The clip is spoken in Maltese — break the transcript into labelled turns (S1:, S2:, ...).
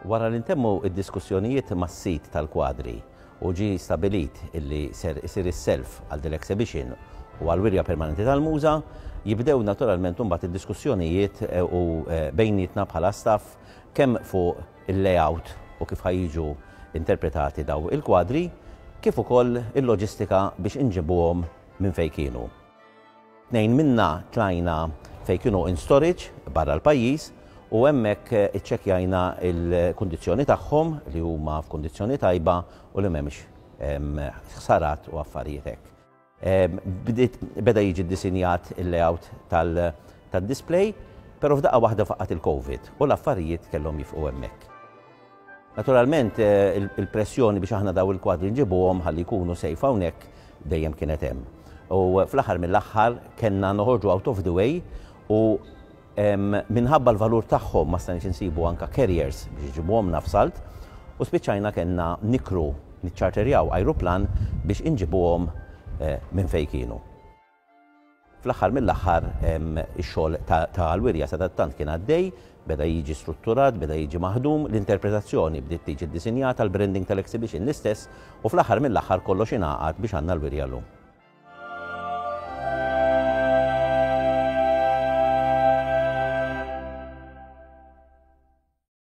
S1: Wara li ntemmu d-diskussjonijiet mas-sid tal-kwadri u ġie stabilit illi ser isir is-self għal din l-exhibition u għall-wirja permanenti tal-MUŻA, jibdew naturalment imbagħad id-diskussjonijiet u bejnietna bħala staff kemm fuq il-layout u kif ħa jiġu interpretati daw il-kwadri, kif ukoll il-loġistika biex inġibuhom minn fejn kienu. Tnejn minna tlajna fejn kienu in storage barra l-pajjiż u hemmhekk iċċekkjajna l-kundizzjoni tagħhom li huma f'kundizzjoni tajba u li m'hemmx ħsarat u affarijiet hekk. Bdiet beda jiġi ddisinjat il-layout tad-display, però f'daqqa waħda faqqat il-Covid u l-affarijiet kellhom jifqu hemmhekk. Naturalment il-pressjoni biex aħna daw il-kwadri nġibuhom ħalli jkunu safe hawnhekk dejjem kienet hemm. U fl-aħħar mill-aħħar kellna noħorġu out of the way u minħabba l-valur tagħhom ma stajniex insibu anka carriers biex iġibuhomlna f'salt u spiċċajna kellna nikru niċċarterjaw ajruplan biex inġibuhom minn fejn kienu. Fl-aħħar mill-aħħar ix-xogħol tal-wirja sadattant kien għaddej, beda jiġi strutturat, beda jiġi maħdum, l-interpretazzjoni bdiet tiġi ddisinjata, l-branding tal-exhibition l-istess u fl-aħħar mill-aħħar kollox ingħaqad biex għandna l-wirja llum.